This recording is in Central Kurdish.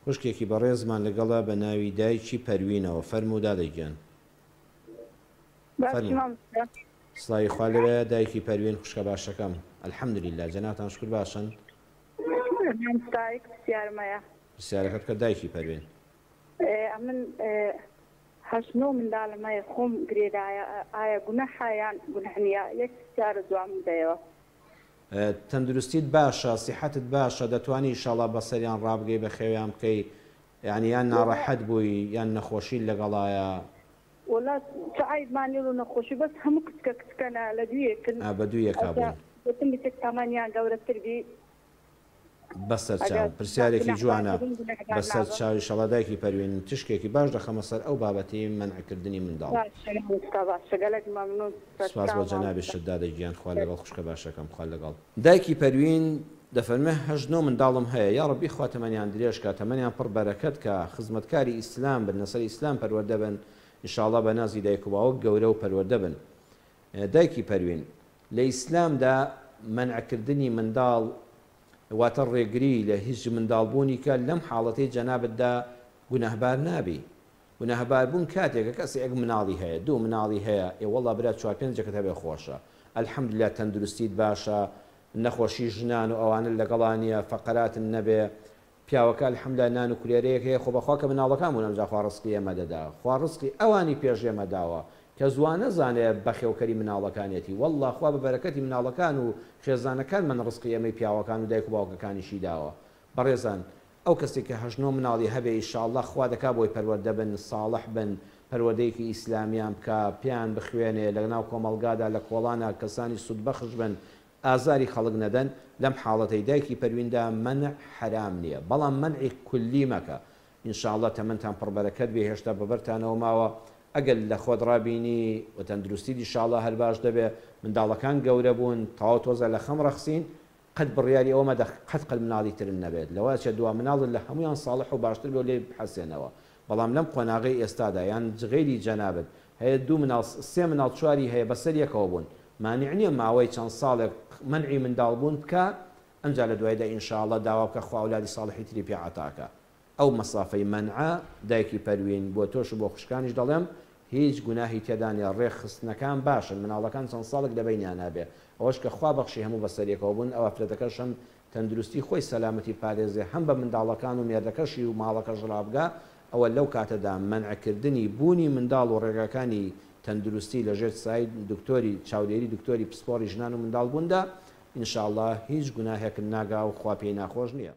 خوشکێکی بەڕێزمان لەگەڵە بە ناوی دایکی پەروینەوە فەرموو دادە گیان. باشی فەرموو. مامۆستا. سڵاوی خوا لێبێ دایکی پەروین خوشکە باشەکەم الحمدللە جەنابتان شکر باشن. مامۆستا یەک پرسیارم هەیە. پرسیارەکە بکە دایکی پەروین. ئەمن هەشت نۆ منداڵم هەیە خۆم گرێدایە ئایا گوناحە یان گوناح نیە یەک پرسیارە جوابم بدەیەوە. تەندروستیت باشە سیحەتت باشە دەتوانی ئیشاڵا بەسەریان ڕابگەی بەخێویان بکەی یانی یان ناڕەحەت بووی یان نەخۆشیت لەگەڵایە. وەڵا چ عەیبمان نیە لۆ نەخۆشی بەس هەموو کچکە کچکەنە لە دوویەکن ئا بە دوویەکا ئەجا بوون. گوتم بچێک تەمەنیان گەورەتر بی. بەسەر ئەگەر چاو. پرسیارێکی گوناحبار جوانە. دەبم گوناحبار بەسەر نابم. چاو ئیشەڵا دایکی پەروین تشکێکی باش دەخەمە سەر ئەو بابەتی مەنع کردنی منداڵ. باشە مامۆستا باشە گەلەک مەمنون سپاس بۆ سەرچاو مامۆستا. جەنابیشت دادە گیان خوا لەگەڵ خوشکە باشەکەم خوا لەگەڵ. دایکی پەروین دەفەرموێ هەشت نۆ منداڵم هەیە یاڕەبی خوا تەمەنیان درێژ کا تەمەنیان پڕ بەرەکەت کا خزمەتکاری ئیسلام بن لەسەر ئیسلام پەروەردە بن ان شاءاللە بە نازی دایک و باوک گەورە و پەروەردە بن دایکی پەروین لە ئیسلامدا مەنع کردنی منداڵ واتە ڕێگری لە هیچ منداڵ بوونی کە لەم حاڵەتەی جەنابتدا گوناهبار نابی. گوناهبار بوون کاتێکە کەسێک مناڵی هەیە دوو مناڵی هەیە ئێ وەڵا برا چوار پێنجەکت هەبێ خۆشە الحمدللە تەندروستیت باشە نەخۆشی ژنان و ئەوانەت لەگەڵا نیە فەقەراتت نەبێ پیاوەکە الحمدللە نان و کولێرەیەک هەیە خۆ بەخوا کە مناڵەکان بوون ئەمجا خوا ڕزقی ئێمە دەدا خوا ڕزقی ئەوانی پێش ئێمە داوە کەس وا نەزانێ بەخێوکەری مناڵەکانیەتی واللە خوا بە بەرەکەتی مناڵەکان و خێزانەکانمان ڕزقی ئێمەی پیاوەکان و دایک و باوکەکانیشی داوە بەڕێزان ئەو کەسەی کە هەشت نۆ مناڵی هەبێ ئیشاڵڵا خوا دەکا بۆی پەروەردە بن ساڵح بن پەروەردەیەکی ئیسلامیان بکا پێیان بخوێنێ لەناو کۆمەڵگادا لە کۆڵانا کەسانی سودبەخش بن ئازاری خەڵک نەدەن لەم حاڵەتەی دایکی پەرویندا مەنع حەرام نیە بەڵام مەنعی کولی مەکە ان شاء اللە تەمەنتان پڕ بەرەکەت بێ هێشتا بەبەرتانەوە ماوە ئەگەر لەخۆت ڕابینی و تەندروستیت ان شاء اللە هەر باش دەبێ منداڵەکان گەورە بوون تەواو تۆزە لەخەم ڕەخسین قەت بڕیاری ئەوە مەدە قەت قەت مناڵی ترت نەبێت لەوە ئەچێت دوا مناڵت لە هەموویان ساڵح و باشتر بێ و لێی بحەسێنەوە بەڵام لەم قۆناغەی ئێستادا یان غەیری جەنابت هەیە دوو مناڵ سێ مناڵ چواری هەیە بەسەر یەکەوە بوون مانع نیە ماوەی چەند ساڵێک مەنعی منداڵ بوون بکا ئەنجا لە دوایدا ان شاء اللە داوا بکە خوا ئەولادی ساڵحی تری پێ عەتا کا ئەو مەسافەی مەنعە دایکی پەروین بۆ تۆش و بۆ خوشکانیش دەڵێم هیچ گوناهی تێدا نیە ڕێک خستنەکان باشن مناڵەکان چەند ساڵێک لە بەینیانا بێ ئەوەش کە خوا بەخشی هەموو بەسەریەکەوە بوون ئەو ئافرەتەکەش هەم تەندروستی خۆی سەلامەتی پارێزێ هەم بە منداڵەکان و مێردەکەشی و ماڵەکەش ڕابگا ئەوە لەو کاتەدا مەنع کردنی بوونی منداڵ و ڕێگاکانی تەندروستی لە ژێر سای دکتۆری چاودێری دکتۆری پسپۆڕی ژنان و منداڵ بووندا ان شاء اللە هیچ گوناهێکت ناگا و خوا پێی ناخۆش نیە.